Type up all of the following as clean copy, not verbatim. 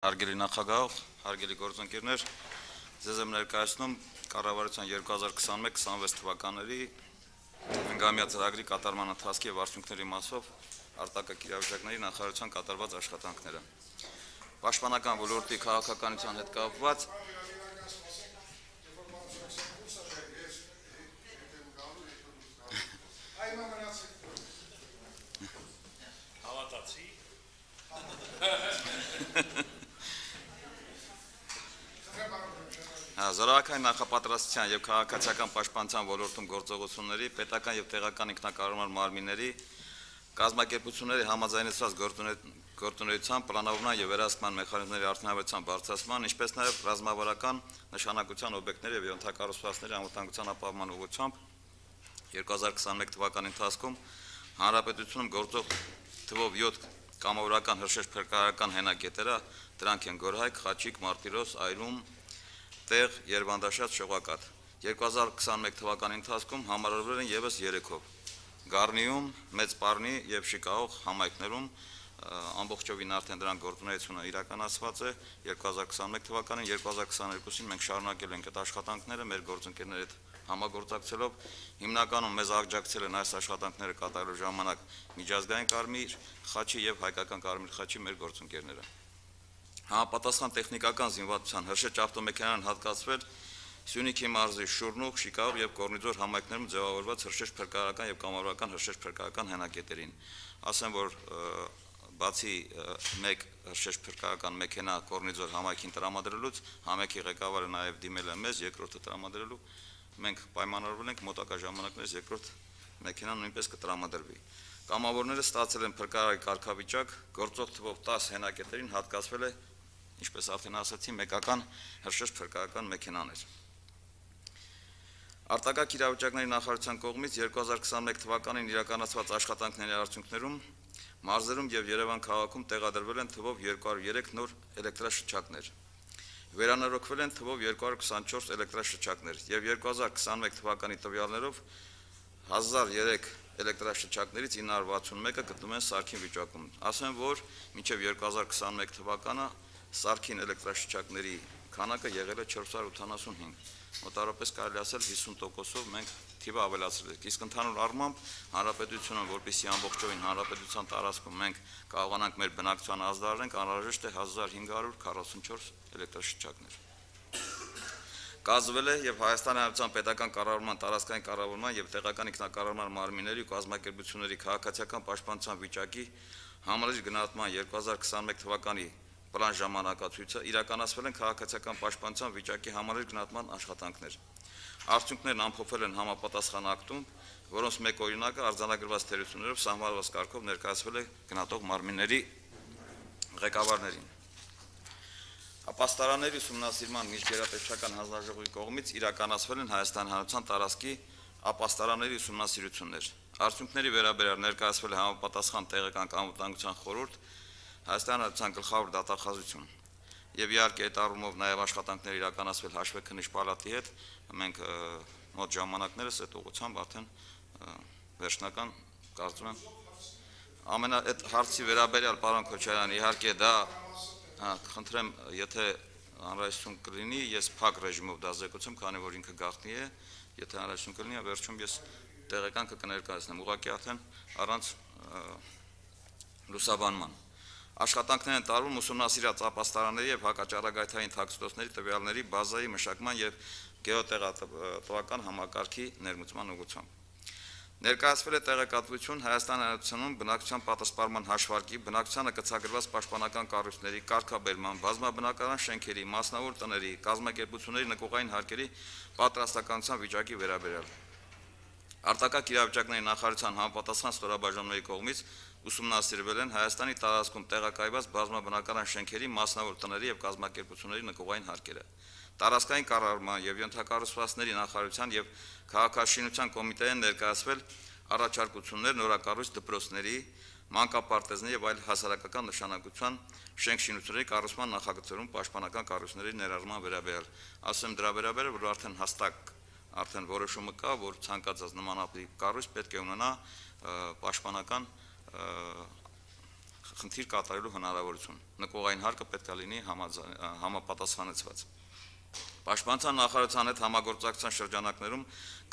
Հարգելի նախագահ, հարգելի գործընկերներ, ձեզ եմ ներկայացնում կառավարության 2021-26 թվականների հնգամյա ծրագրի կատարման ընթացքի եւ արդյունքների մասով արտակարգ իրավիճակների նախարարության կատարված աշխատանքները։ Պաշտպանական ոլորտի քաղաքականության հետ կապված Զորակային նախապատրաստության եւ քաղաքացիական պաշտպանության ոլորտում գործողությունների պետական եւ տեղական ինքնակառավարման մարմինների կազմակերպությունների համաձայնեցված գործունեության պլանավորման եւ վերահսկման մեխանիզմների արդյունավետության բարձրացման, ինչպես նաեւ ռազմավարական նշանակության օբյեկտների եւ ենթակառուցվածքների անվտանգության ապահովման ուղղությամբ 2021 թվականի ընթացքում հանրապետությունում գործող թվով 7 կամավորական հրշեջ-փրկարարական հենակետերը, դրանք են Գորհայք, Խաչիկ, Մարտիրոս, Այրում, Տեղ, Երվանդաշատ, Շողակաթ։ 2021 թվականի ընթացքում համարվել են եւս 3-ով։ Գառնիում, Մեծ Պարնի եւ Շիկահող համայնքներում ամբողջովին արդեն դրանք գործունեությունը իրականացված է 2021 թվականին, 2022-ին մենք շարունակել ենք այդ աշխատանքները մեր գործընկերների հետ համագործակցելով, հիմնականում մեզ աջակցել են այս աշխատանքները կատարելու ժամանակ միջազգային Կարմիր խաչի եւ հայկական Կարմիր խաչի մեր գործընկերները։ Համապատասխան տեխնիկական զինվածության հրշեջ ավտոմեքենան հատկացվել Սյունիքի մարզի Շուրնուղ, Շիկահող եւ Կորնիձոր համայնքներում ձևավորված հրշեջ-փրկարարական եւ կամավորական հրշեջ-փրկարարական հենակետերին։ Ասեմ, որ բացի մեկ հրշեջ-փրկարարական մեքենա Կորնիձոր համայնքին տրամադրելուց, համայնքի ղեկավարը նաեւ դիմել է մեզ երկրորդը տրամադրելու։ Մենք պայմանավորվել ենք մոտակա ժամանակներս երկրորդ մեքենան նույնպես կտրամադրվի։ Կամավորները ստացել են փրկարարի կարգավիճակ, գործող թվով 10 հենակետերին հատկացվել է, ինչպես արդեն ասացի, մեկական հրշեջ-փրկարարական մեքենաներ։ Արտակարգ իրավիճակների նախարարության կողմից 2021 թվականին իրականացված աշխատանքների արդյունքներում մարզերում եւ Երևան քաղաքում տեղադրվել են թվով 203 նոր էլեկտրաշչակներ։ Վերանորոգվել են թվով 224 էլեկտրաշչակներ եւ 2021 թվականի տվյալներով 1003 էլեկտրաշչակներից 961-ը գտնվում են սարքին վիճակում։ Ասեմ, որ մինչև 2021 թվականը սարքին էլեկտրաշչակների քանակը եղել է 485։ Մոտավորապես կարելի ասել 50%-ով մենք թիվը ավելացրել ենք։ Իսկ ընդհանուր առմամբ հանրապետությունը, որպեսզի ամբողջովին հանրապետության տարածքում մենք կարողանանք մեր բնակչությանը ազդարարենք, անհրաժեշտ է 1544 էլեկտրաշչակներ։ Կազմվել է եւ Հայաստանի Հանրապետության պետական կառավարման, տարածքային կառավարման եւ տեղական ինքնակառավարման մարմինների ու կազմակերպությունների քաղաքացիական պաշտպանության վիճակի համալիր գնահատման 2021 թվականի պլան ժամանակացույցը իրականացվել են քաղաքացիական պաշտպանության վիճակի համալիր գնահատման աշխատանքներ։ Արդյունքներն ամփոփվել են համապատասխան ակտում, որոնց մեկ օրինակը արձանագրված թերություններով սահմանված կարգով ներկայացվել է գնահատող մարմինների ղեկավարներին։ Ապաստարանների ուսումնասիրման միջգերատեսչական հանձնաժողովի կողմից իրականացվել են Հայաստանի Հանրապետության տարածքի ապաստարանների ուսումնասիրություններ։ Արդյունքների վերաբերյալ ներկայացվել է համապատասխան տեղական անվտանգության խորհուրդ, Հայաստանի Հանրապետության գլխավոր դատախազություն եւ իհարկե այդ առումով նաեւ աշխատանքներ իրականացվել հաշվեկնիչ պալատի հետ, մենք մոտ ժամանակներս այդ ուղղությամբ արդեն վերջնական կարծում եմ այդ հարցի վերաբերյալ պարոն Քոչարյան, իհարկե դա խնդրեմ, եթե անհրաժեշտություն կլինի, ես փակ ռեժիմով դա զեկուցեմ, քանի որ ինքը գաղտնի է, եթե անհրաժեշտություն կլինի, վերջում ես տեղեկանքը կներկայացնեմ, ուղղակի արդեն առանց լուսաբանման։ Աշխատանքներ են տարվում ուսումնասիրած ապաստարանների եւ հակաճառագայթային թաքստոցների տվյալների բազայի մշակման եւ գեոտեղատվական համակարգի ներմուծման ուղղությամբ։ Ներկայացվել է տեղեկատվություն Հայաստանի Հանրապետությունում բնակչության պատասխանման հաշվարկի, բնակչությանը կցագրված պաշտպանական կառույցների, կարգաբերման, բազմաբնակարան շենքերի, մասնավոր տների, կազմակերպությունների նկուղային հարկերի պատրաստականության վիճակի վերաբերյալ։ Արտակարգ իրավիճակների նախարարության համապատասխան ստորաբաժանումների կողմից ուսումնասիրվել են Հայաստանի տարածքում տեղակայված բազմաբնակարան շենքերի, մասնավոր տների եւ կազմակերպությունների նկուղային հարկերը։ Տարածքային կառավարման եւ ենթակառուցվածքների նախարարության եւ քաղաքաշինության կոմիտեին ներկայացվել առաջարկություններ նորակառույց դպրոցների, մանկապարտեզների եւ այլ հասարակական նշանակության շենք-շինությունների կառուցման նախագծերում պաշտպանական կառույցների ներառման վերաբերյալ։ Ասեմ դրա վերաբերյալ, որ արդեն հստակ որոշումը կա, որ ցանկացած նմանատիպ կառույց պետք է ունենա պաշտպանական խնդիր կատարելու հնարավորություն։ Նկողային հարկը պետք է լինի համապատասխանեցված։ Պաշտպանության նախարարության հետ համագործակցության շրջանակներում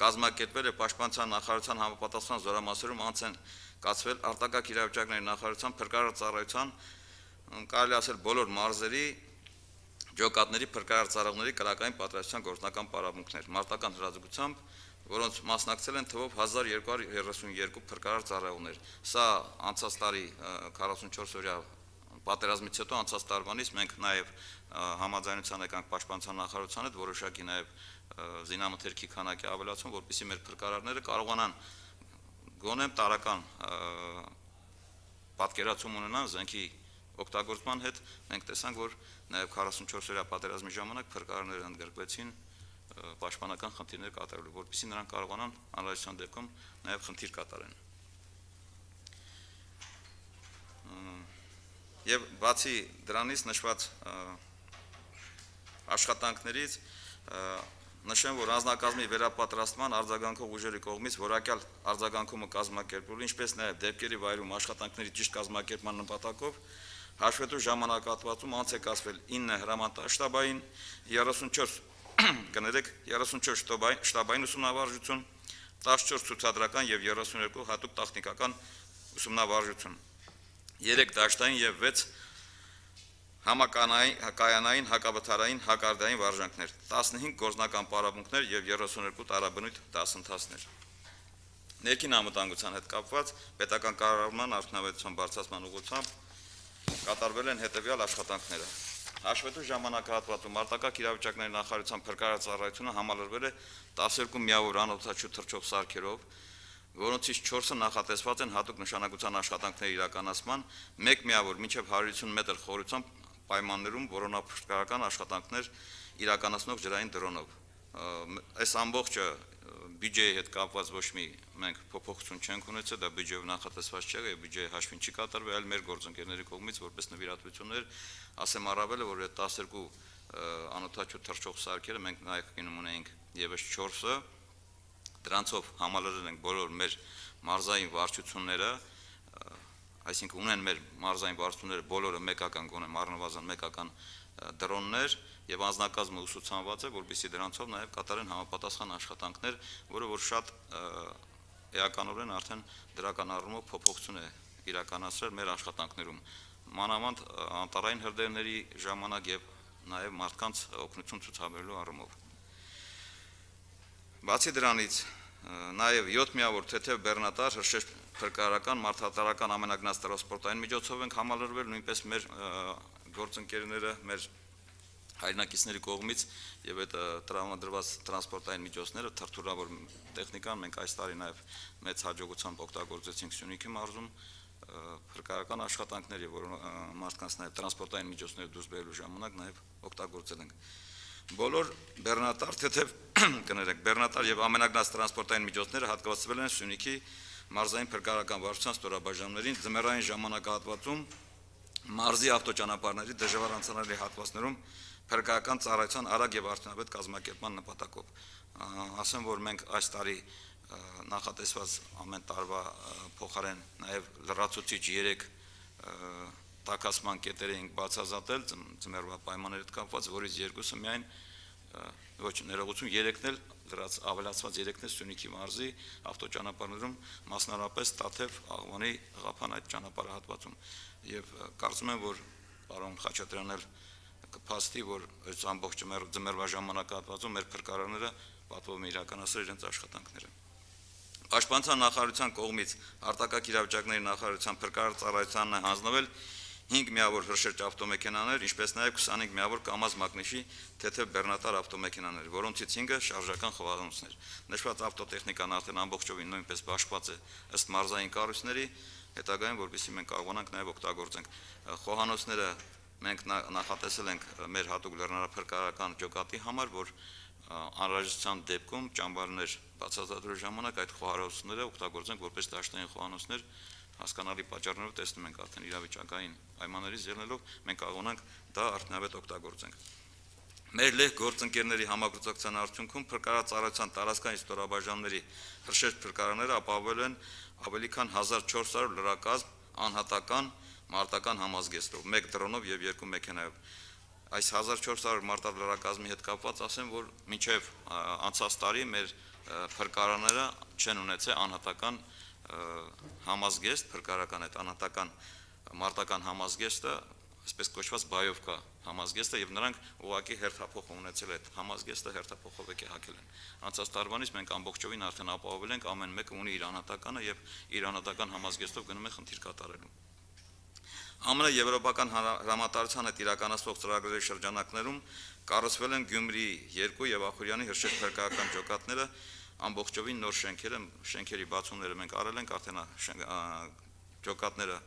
կազմակերպվել է Պաշտպանության նախարարության համապատասխան զորամասերում անց են կացվել արտակարգ իրավիճակների նախարարության փրկարար ծառայության կարելի ասել բոլոր մարզերի ջոկատների փրկարար ծառայողների կրակային պատրաստության գործնական պարապմունքներ մարտական հրաձգությամբ, որոնց մասնակցել են թվով 1232 փրկարար ծառայողներ։ Սա անցած տարի 44-օրյա պատերազմից հետո անցած տարվանից մենք նաև համաձայնության եկանք Պաշտպանության նախարարության հետ որոշակի նաև զինամթերքի քանակի ավելացում, որպեսզի մեր փրկարարները կարողանան գոնե տարական պատկերացում ունենան զենքի օգտագործման հետ։ Մենք տեսանք, որ նաև 44-օրյա պատերազմի ժամանակ փրկարարները ընդգրկվեցին պաշտպանական խնդիրներ կատարելու, որպեսզի նրանք կարողանան անհրաժեշտության դեպքում նաև խնդիր կատարեն։ Եվ բացի դրանից նշված աշխատանքներից նշեմ, որ անձնակազմի վերապատրաստման արձագանքող ուժերի կողմից որակյալ արձագանքումը կազմակերպելու, ինչպես նաև դեպքերի վայրում աշխատանքների ճիշտ կազմակերպման նպատակով հաշվետու ժամանակահատվածում անց է կացվել 9 հրամանատարշտաբային, 34 շտաբային ուսումնավարժություն, 14 ցուցադրական և 32 հատուկ տեխնիկական ուսումնավարժություն, 3 դաշտային և 6 համակայանային, հակավթարային, հակարդային վարժանքներ, 15 գործնական պարապմունքներ և 32 տարաբնույթ դասընթացներ։ Ներքին անվտանգության հետ կապված պետական կառավարման արդյունավետության բարձրացման ուղղությամբ կատարվել են հետևյալ աշխատանքները։ Հաշվետու ժամանակահատվածում արտակարգ իրավիճակների նախարարության փրկարար ծառայությունը համալրվել է 12 միավոր անօդաչու թռչող սարքերով, որոնցից 4-ը նախատեսված են հատուկ նշանակության աշխատանքների իրականացման, 1 միավոր մինչև 150 մետր խորությամբ պայմաններում որոնափրկարական աշխատանքներ իրականացնող ջրային դրոնով։ Այս ամբողջը բյուջեի հետ կապված ոչ մի մենք փոփոխություն չենք ունեցել, դա բյուջեով նախատեսված չէ եւ բյուջեի հաշվին չի կատարվել, այլ մեր գործընկերների կողմից որպես նվիրատվություններ, ասեմ առավելը, որ այդ 12 անօդաչու թռչող սարքերը մենք նախկինում ունեինք եւս 4-ը, դրանցով համալրել ենք բոլոր մեր մարզային վարչությունները, այսինքն ունեն մեր մարզային վարչությունները բոլորը մեկական գոնե առնվազն մեկական դրոններ եւ անձնակազմը ուսուցանված է, որպեսզի դրանցով նաեւ կատարեն համապատասխան աշխատանքներ, որը որ շատ էականորեն արդեն դրական առումով փոփոխություն է իրականացրել մեր աշխատանքներում, մանավանդ անտառային հրդեհների ժամանակ եւ նաեւ մարդկանց օգնություն ցուցաբերելու առումով։ Բացի դրանից նաեւ 7 միավոր թեթև բեռնատար հրշեջ փրկարարական մարդատարական ամենագնաց տրանսպորտային միջոցով ենք համալրվել, նույնպես մեր գործընկերները, մեր հայրենակիցների կողմից եւ այդ տրամադրված տրանսպորտային միջոցները, թրթուրավոր տեխնիկան մենք այս տարի նաեւ մեծ հաջողությամբ օգտագործեցինք Սյունիքի մարզում փրկարարական աշխատանքների, որ մարդկանց նաեւ տրանսպորտային միջոցները դուրս բերելու ժամանակ նաեւ օգտագործել ենք։ Բոլոր բեռնատար թեթև կներեք, բեռնատար եւ ամենագնաց տրանսպորտային միջոցները հատկացվել են Սյունիքի մարզային փրկարարական վարչության ստորաբաժանումներին ձմեռային ժամանակահատվածում մարզի ավտոճանապարհների դժվար անցանելի հատվածներում փրկարարական ծառայության արագ եւ արդյունավետ կազմակերպման նպատակով։ Ասեմ, որ մենք այս տարի նախատեսված ամեն տարվա փոխարեն նաեւ լրացուցիչ 3 տաքացման կետեր ենք բացազատել ձմեռվա պայմանների հետ կապված, որից 2-ը միայն ոչ ներողություն 3-ն էլ ավելացված 3-ն է Սյունիքի մարզի ավտոճանապարհներում, մասնարարապես Տաթև, Աղվանի, Ղափան այդ ճանապարհահատվածում։ Եվ կարծում եմ, որ պարոն Խաչատրյանն էլ կփաստի, որ այս ամբողջ ձմեռվա ժամանակահատվածում մեր փրկարարները պատվով իրականացրել իրենց աշխատանքները։ Պաշտպանության նախարարության կողմից արտակարգ իրավիճակների նախարարության փրկարար ծառայությանն է հանձնվել 5 միավոր հրշեջ ավտոմեքենաներ, ինչպես նաև 25 միավոր կամազ մագնիշի թեթև բեռնատար ավտոմեքենաներ, որոնցից 5-ը շարժական խոհանոցներ։ Նշված ավտոտեխնիկան արդեն ամբողջովին նույնպես բաշխված է ըստ մարզային կառույցների, հետագայում որպեսզի մենք կարողանանք նաև օգտագործենք խոհանոցները մենք նախատեսել ենք մեր հատուկ լեռնարփրկարարական ջոկատի համար, որ անհրաժեշտության դեպքում ճամբարներ բացահայտելու ժամանակ այդ խոհանոցները օգտագործենք որպես դաշտային խոհանոցներ, հասկանալի պատճառներով տեսնում ենք արդեն իրավիճակային պայմաններից ելնելով մենք կարողանանք դա արդյունավետ օգտագործենք։ Մեր լեհ գործընկերների համագործակցության արդյունքում փրկարար ծառայության տարածքային ստորաբաժանումների հրշեջ փրկարարները ապահովել են ավելի քան 1400 լրակազմ անհատական մարտական համազգեստով, 1 դրոնով եւ 2 մեքենայով։ Այս 1400 մարտահրավերակազմի հետ կապված ասեմ, որ մինչև անցած տարի մեր փրկարանները չեն ունեցել անհատական համազգեստ, փրկարական այդ անհատական մարտական համազգեստը, այսպես կոչված բայովկա համազգեստը եւ նրանք ուղղակի հերթափոխ ունեցել այդ համազգեստը հերթափոխով եկել են։ Անցած տարվանից մենք ամբողջովին արդեն ապահովել ենք, ամեն մեկը ունի իր անհատականը եւ իր անհատական համազգեստով գնում է խնդիր կատարելու։ ԱՄՆ եվրոպական հրամանատարության հետ իրականացվող ծրագրերի շրջանակներում կառուցվել են Գյումրի 2 եւ Ախուրյանի հրշեջ փրկարական ջոկատները, ամբողջովին նոր շենքերի բացումները մենք արել ենք, արդեն ջոկատները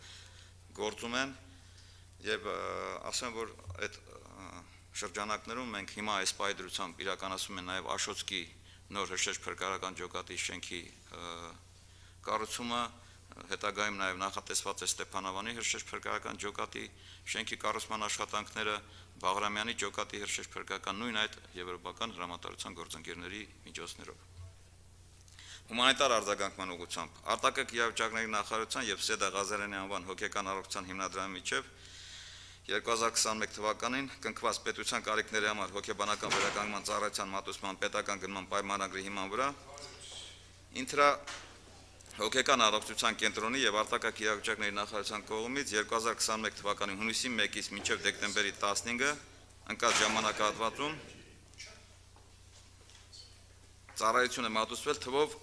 գործում են եւ ասեմ, որ այդ շրջանակներում մենք հիմա այս պայդրությամբ իրականացում ենք նաեւ Աշոցկի նոր հրշեջ փրկարական ջոկատի շենքի կառուցումը, հետագայում նաև նախատեսված է Ստեփանավանի հրշեջ փրկարական ջոկատի շենքի կառուցման աշխատանքները, Բաղրամյանի ջոկատի հրշեջ փրկարական նույն այդ եվրոպական հրամանատարության գործընկերների միջոցներով։ Հումանիտար արձագանքման ուղղությամբ արտակարգ իրավիճակների նախարարության եւ Սեդա Ղազարյանի անվան հոգեկան առողջության հիմնադրամի միջև 2021 թվականին կնքված պետության կարիքների համար հոգեբանական վերականգնման ծառայության մատուցման պետական գնման պայմանագրի հիման վրա ինտրա հոգեկան առողջության կենտրոնի եւ արտակարգ իրավիճակների նախարարության կողմից 2021 թվականի հունիսի 1-ից մինչեւ դեկտեմբերի 15-ը ընկած ժամանակահատվածում ծառայություն է մատուցվել թվով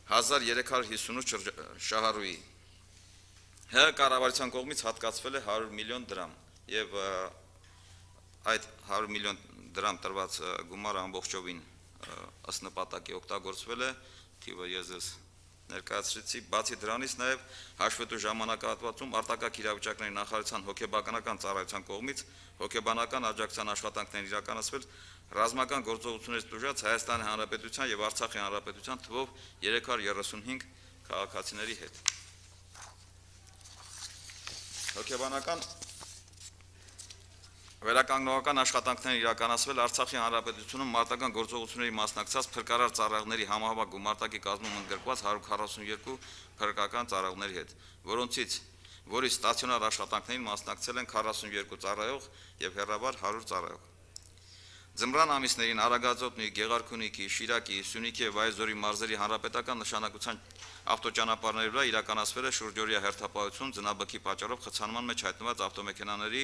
1358 շահառուի։ ՀՀ կառավարության կողմից հատկացվել է 100 միլիոն դրամ եւ այդ 100 միլիոն դրամ տրված գումարը ամբողջովին ըստ նպատակի օգտագործվել է, թիվը ես ներկայացրեցի, բացի դրանից նաև հաշվետու ժամանակահատվածում արտակարգ իրավիճակների նախարարության հոգեբանական ծառայության կողմից հոգեբանական աջակցության աշխատանքներ իրականացվել ռազմական գործողություններից տուժած Հայաստանի Հանրապետության եւ Արցախի Հանրապետության թվով 335 քաղաքացիների հետ։ Հոգեբանական վերականգնողական աշխատանքներ իրականացվել Արցախի Հանրապետությունում մարտական գործողությունների մասնակցած փրկարար ծառայողների համահավաք գումարտակի կազմում ընդգրկված 142 փրկական ծառայողների հետ, որի ստացիոնար աշխատանքներին մասնակցել են 42 ծառայող եւ հեռավար 100 ծառայող։ Ձմռան ամիսներին Արագածոտնի, Գեղարքունիքի, Շիրակի, Սյունիքի եւ Այզորի մարզերի հանրապետական նշանակության ավտոճանապարհների վրա իրականացվել է շուրջօրյա հերթապահություն ձնաբքի պատճառով խցանման մեջ հայտնված ավտոմեքենաների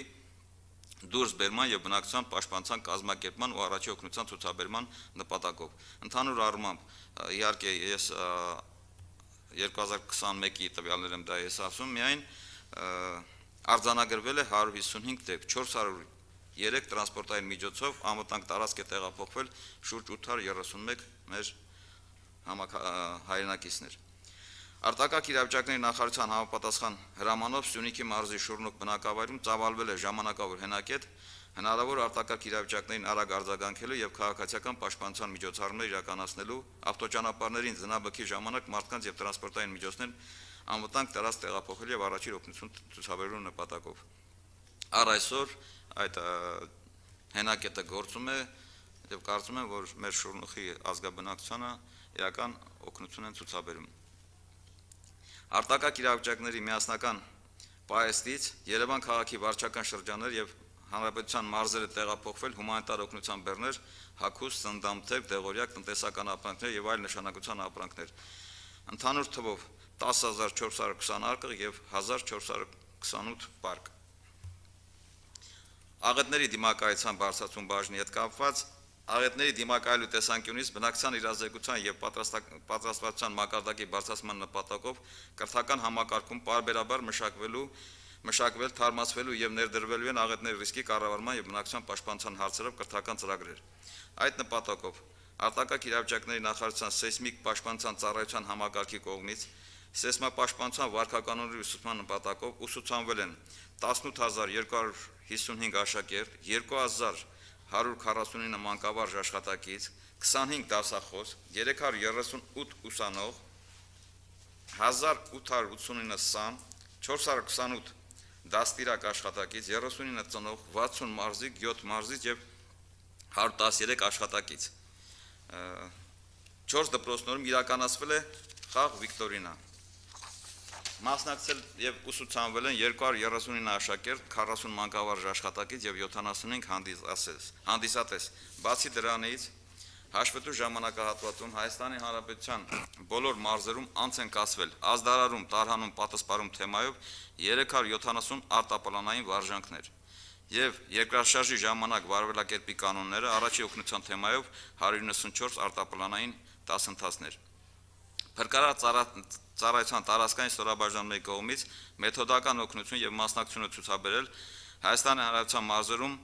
դուրս բերման եւ բնակչության պաշտպանության կազմակերպման ու առաջի օգնության ցուցաբերման նպատակով։ Ընդհանուր առմամբ, իհարկե ես 2021-ի տվյալներ եմ դա ես ասում, միայն արձանագրվել է 155 դեպք, 403 տրանսպորտային միջոցով անվտանգ տարածք է տեղափոխվել շուրջ 831 մեր հայրենակիցներ։ Արտակարգ իրավիճակների նախարարության համապատասխան հրամանով Սյունիքի մարզի Շուրնուկ բնակավայրում ծավալվել է ժամանակավոր հենակետ, հնարավոր արտակարգ իրավիճակներին արագ արձագանքելու եւ քաղաքացիական պաշտպանության միջոցառումներ իրականացնելու, ավտոճանապարհներին ձնաբքի ժամանակ մարդկանց եւ տրանսպորտային միջոցներ անվտանգ տարածք տեղափոխելու եւ առաջին օգնություն ցուցաբերելու նպատակով։ Առ այսօր այդ հենակետը գործում է եւ կարծում եմ, որ մեր Շուրնուխի ազգաբնակչությանը իրական օգնություն են ցուցաբերում։ Արտակարգ իրավիճակների միասնական պահեստից Երևան քաղաքի վարչական շրջաններ եւ հանրապետության մարզերը տեղափոխվել հումանիտար օգնության բեռներ, հագուստ, սննդամթերք, դեղորյակ, տնտեսական ապրանքներ եւ այլ նշանակության ապրանքներ։ Ընդհանուր թվով 10420 արկղ եւ 1428 պարկ։ Աղետների դիմակայության բարձրացում բաժնի հետ կապված աղետների դիմակայելու տեսանկյունից բնակչության իրազեկության եւ պատրաստվածության մակարդակի բարձրացման նպատակով կրթական համակարգում պարբերաբար մշակվել, թարմացվելու եւ ներդրվելու են աղետների ռիսկի կառավարման եւ բնակչության պաշտպանության հարցերով կրթական ծրագրեր։ Այդ նպատակով արտակարգ իրավիճակների նախարարության սեյսմիկ պաշտպանության ծառայության համակարգի կողմից սեյսմապաշտպանության վարքականոնների ուսուցման նպատակով ուսուցանվել են 18255 աշակերտ, 2149 մանկավարժ աշխատակից, 25 դասախոս, 338 ուսանող, 1889 սան, 428 դաստիրակ աշխատակից, 39 ծնող, 60 մարզիկ, 7 մարզիկ եւ 113 աշխատակից։ 4 դպրոցներում իրականացվել է խաղ վիկտորինա։ Մասնակցել եւ ուսուցանվել են 239 աշակերտ, 40 մանկավարժ աշխատակից եւ 75 հանդիսատես։ Բացի դրանից, հաշվետու ժամանակահատվածում Հայաստանի Հանրապետության բոլոր մարզերում անց են կացվել ազդարարում, տարհանում, պատասպարում թեմայով 370 արտապլանային վարժանքներ եւ երկրաշարժի ժամանակ վարվելակերպի կանոնները առաջի օգնության թեմայով 194 արտապլանային դասընթացներ։ Փրկարար ծառայության տարածքային ստորաբաժանումների կողմից մեթոդական օգնություն եւ մասնակցություն ցուցաբերել Հայաստանի Հանրապետության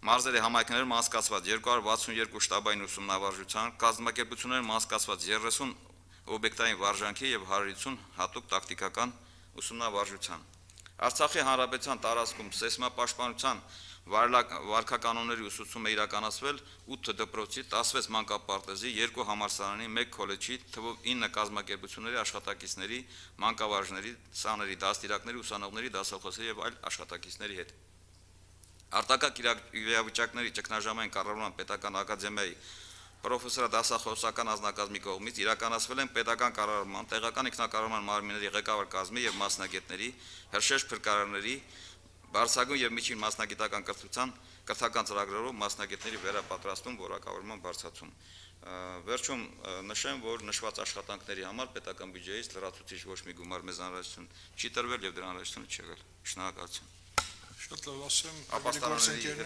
մարզերի համայնքներում անցկացված 262 շտաբային ուսումնավարժության, կազմակերպություններում անցկացված 30 օբյեկտային վարժանքի եւ 150 հատուկ տակտիկական ուսումնավարժության։ Արցախի Հանրապետության տարածքում սեյսմապաշտպանության վարքականոնների ուսուցումը իրականացվել 8 դպրոցի, 16 մանկապարտեզի, 2 համալսարանի, 1 քոլեջի, թվով 9 կազմակերպությունների աշխատակիցների, մանկավարժների, սաների, դաստիարակների, ուսանողների, դասախոսների եւ այլ աշխատակիցների հետ։ Արտակարգ իրավիճակների ճգնաժամային կառավարման պետական ակադեմիայի պրոֆեսորադասախոսական անձնակազմի կողմից իրականացվել են պետական կառավարման, տեղական ինքնակառավարման մարմինների ղեկավար կազմի եւ մասնագետների, հրշեջ փրկարարների, բարձրագույն եւ միջին մասնագիտական կրթական ծրագրերով մասնագետների վերապատրաստում, որակավորման բարձրացում։ Վերջում նշեմ, որ նշված աշխատանքների համար պետական բյուջեից լրացուցիչ ոչ մի գումար մեզ անհրաժեշտություն չի տրվել եւ դրա անհրաժեշտություն չի եղել։ Շնորհակալություն։ Շատ լավ, ասեմ, Ապաստարանների